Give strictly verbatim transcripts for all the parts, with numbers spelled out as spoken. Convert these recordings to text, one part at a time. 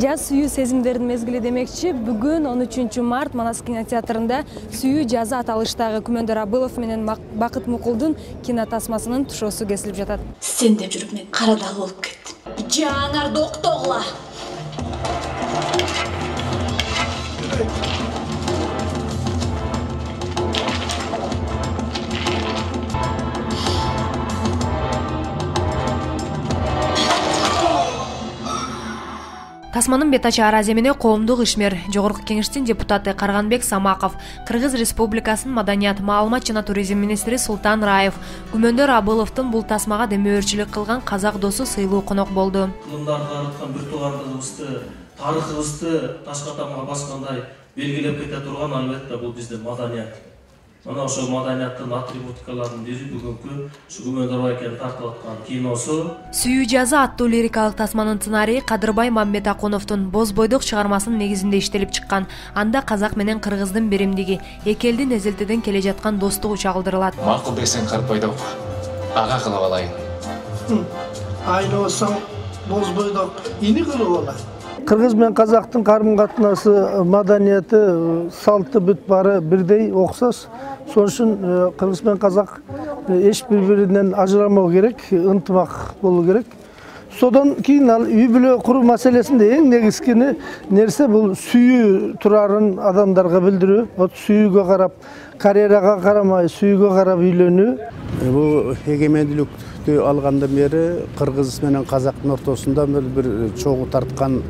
Жаз сүйүү сезимдердин мезгили демекчи, бүгүн он үчүнчү март Манас кинотеатрында сүйүү жазы аталыштагы Күмөндөр Абылов менен Бакыт Мукулдун кинотасмасынын тушоосу кесилип жатат. Сен деп жүрүп мен кара дал болуп кеттим. Жанар доктогула. Тасманын бет ачы Араз эмне коомдук ишмер, Жогорку Кеңештин депутаты Карганбек Самаков, Кыргыз Республикасынын Маданият, маалымат жана туризм министри Султан Раев, Күмөндөр Абыловдун бул тасмага демөөрчүлүк кылган казак досу сыйлуу конок болду. Кылымдарга аныткан бир туугандыгыбызды, тарыхыбызды ташка тамга баскандай белгилеп кете турган албетте бул биздин маданият. Мына ошол маданияттын атрибутикаларын бири бүгүнкү Күмөндөр байкенин тартып аткан киносу. Сүйүү жазы аттуу лирикалык тасманын сценарийи Кадырбай Мамбетакуновдун Боз бойдок чыгармасынын негизинде иштелип чыккан. Анда казак менен кыргыздын биримдиги, эки элдин эзелтеден келе жаткан достугу чагылдырылат. Макул десең Кадырбайдок, ага кылып алайын. Айносоң Боз бойдок ини кылып алайын. Кыргыз менен казактын карым-катнасы, маданияты, салты бүт баары бирдей, окшош. Сонун үчүн кыргыз менен казак эч бири-биринен ажырамоо керек, ынтымак болуу керек. Содан кийин ал үй бүлө куруу маселесинде эң негизги нерсе бул сүйүү турарын адамдарга билдирүү. Вот сүйүүгө карап, карьерага карамай, сүйүүгө карап үйлөнүү. Бул эгемендүүлүктү алгандан бери кыргыз менен казактын ортосунда бир чогуу тарткан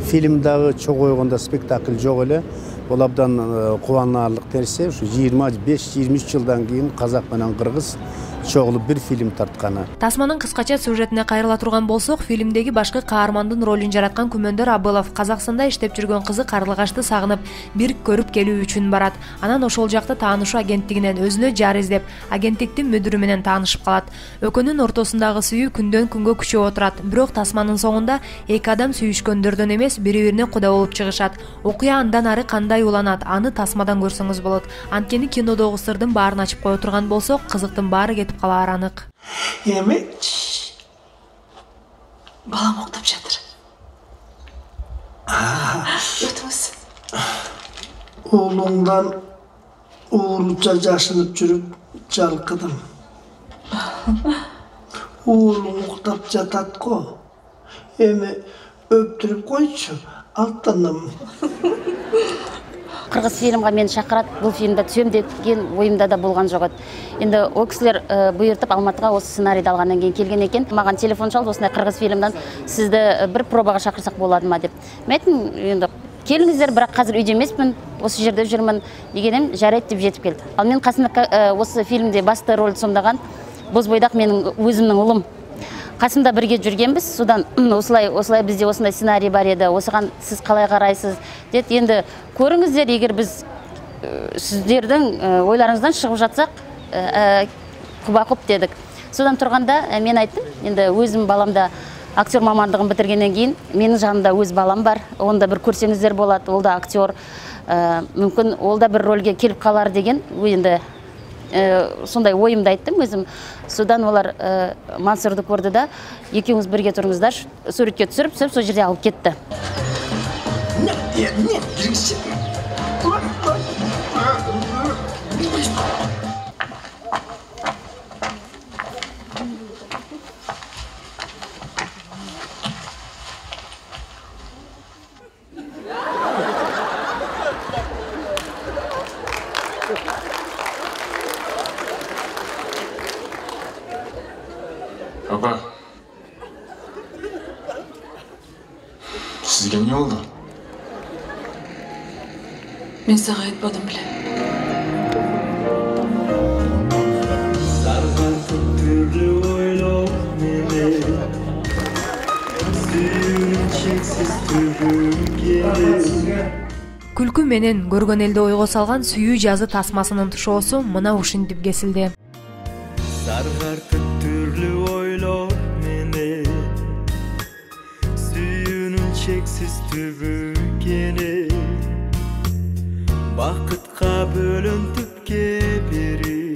фильм дагы, чогуу койгондо спектакль жок эле. Бул абдан кубанаарлык нерсе. Ушу жыйырма беш жыйырма үч жылдан кийин казак менен кыргыз чогулуп бир фильм тартканы. Тасманын кыскача сюжетине кайрыла турган болсок, фильмдеги башкы каармандын ролун жараткан Күмөндөр Абылов Казакстанда иштеп жүргөн кызы Карлыгашты сагынып, бир көрүп келүү үчүн барат. Анан ошол жакта таанышуу агенттигинен өзүнө жар издеп, агенттиктин мүдүрү менен таанышып калат. Экөөнүн ортосундагы сүйүү күндөн күнгө күчөп отурат. Бирок тасманын соңунда эки адам сүйүшкөндөрдөн эмес, бири-бирине куда болуп чыгышат. Окуя андан ары кандай уланат, аны тасмадан көрсөңүз болот. Анткени кинодогу сырдын баарын ачып кое турган болсок, кызыктын баары кетип калаар анык. Эми балам октоп жатыр. Өтүңүз. Оолуңдан ууруча жашынып жүрүп жалкыдым. Оолуң уктап жатат го. Эми өптүрүп койчу, алтыным. Кыргыз фильмге мени чакырат, бул фильмде түсөм деген оюмда да болгон жок. Энд о кисилер буйртуп Алматыга осы сценарийди алгандан кийин келген экен. Мага телефон чалып, осындай кыргыз фильмден сизди бир пробага чакырсак боладымы деп. Мен айттым, энд келиңиздер, бирок азыр үйдө эмесмин, осы жерде жүрмүн дегеним жарайт деп жетип келди. Ал мен касымда осы фильмде басты ролду сомдогон Боз бойдак менин өзүмдүн улум. Касымда бирге жүргенбиз. Судан осылай, осылай бизде осындай сценарий бар еді. Осыған сіз қалай қарайсыз? Деді, енді көріңіздер, егер біз сіздердің ойларыңыздан шығып жатсақ, құба-құп дедік. Содан тұрғанда мен айттым, енді өзім баламда актер мамандығын бітіргеннен кейін, менің жанымда өз балам бар. Онда бір көрсеңіздер болады, ол да актер. Мүмкін ол да бір рөлге келіп қалар деген, енді сондай ойымды айттым өзім. Содан олар Мансурды көрді да, екеуіңіз бірге тұрыңыздар, суретке түсіріп, түсіріп, сол жерде алып кетті. Папа, sizga ne oldu? Men sana aytmadım bile. Күлкү менен көргөн элди ойго салган сүйүү жазы тасмасынын тушоосу мына ушинтип кесилди. Çeksiz tübükeni Bakıtqa bölüntüpke beri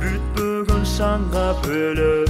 Büt bugün şanğa bölüp